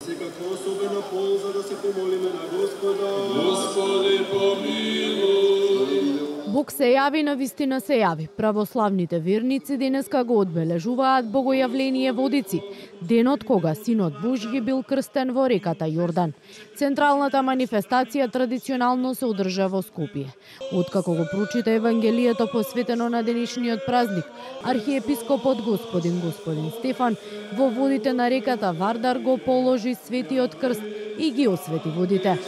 Секако особена полза да се помолиме на Господа. Господи, помилуј. Бог се јави, на вистина се јави. Православните верници денеска го одбележуваат богојавление во Одици, денот кога Синот Божји бил крстен во реката Јордан. Централната манифестација традиционално се одржа во Скопје. Откако го прочита Евангелието посветено на денешниот празник, архиепископот господин Стефан во водите на реката Вардар го положи светиот крст и ги освети водите.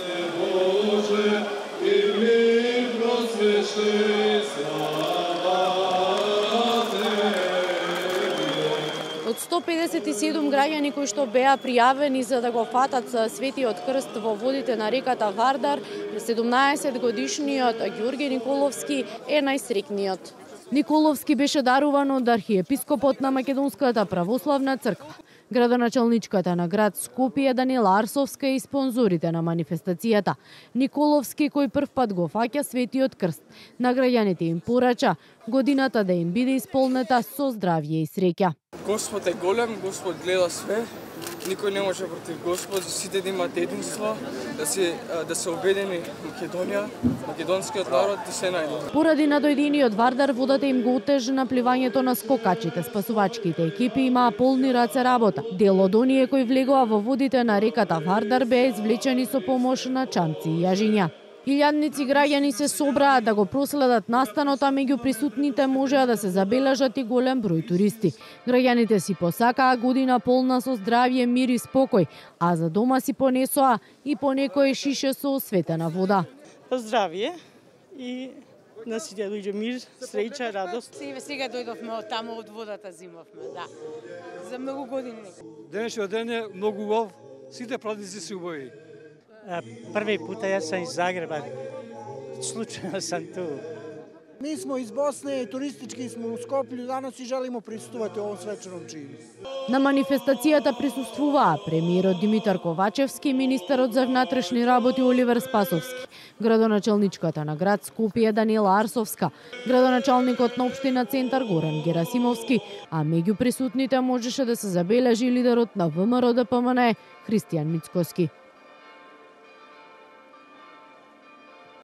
Од 157 граѓани кои што беа пријавени за да го фатат светиот крст во водите на реката Вардар, 17 годишниот Ѓорѓе Николовски е најсреќниот. Николовски беше даруван од архиепископот на Македонската православна црква. Градоначалничката на град Скопје Данила Арсовска и спонзорите на манифестацијата. Николовски, кој првпат го фаќа светиот крст, на граѓаните им порача годината да им биде исполнета со здравје и среќа. Господ е голем, Господ гледа све. Никој не може против Господ, сите да имат единство, да се обедини Македонија, македонскиот народ и се најде. Поради надојдениот Вардар, водата им го отежи напливањето на скокачите. Спасувачките екипи имаа полни раце работа. Дел од оние кои влегоа во водите на реката Вардар беа извлечени со помош на чамци и јажиња. Илјадници граѓани се собраа да го проследат настанот, а меѓу присутните можеа да се забележат и голем број туристи. Граѓаните си посакаа година полна со здравје, мир и спокој, а за дома си понесоа и по некој шише со осветена вода. Здравје и на сите дојде мир, среќа, радост. Сега дојдовме од таму, од водата зимовме, да. За многу години. Денешниот ден е многу убав, сите празници се убави. Први пат јас сум из Загреба. Случајно сум ту. Ми смо из Босна и туристички смо у Скопје, данас и желимо присуствувате овој свечерном чину. На манифестацијата присуствуваа премиерот Димитар Ковачевски, министерот за внатрешни работи Оливер Спасовски, градоначалничката на град Скопје Данила Арсовска, градоначалникот на општина Центар Горан Герасимовски, а меѓу присутните можеше да се забележи лидерот на ВМРО ДПМН Христијан Мицкоски.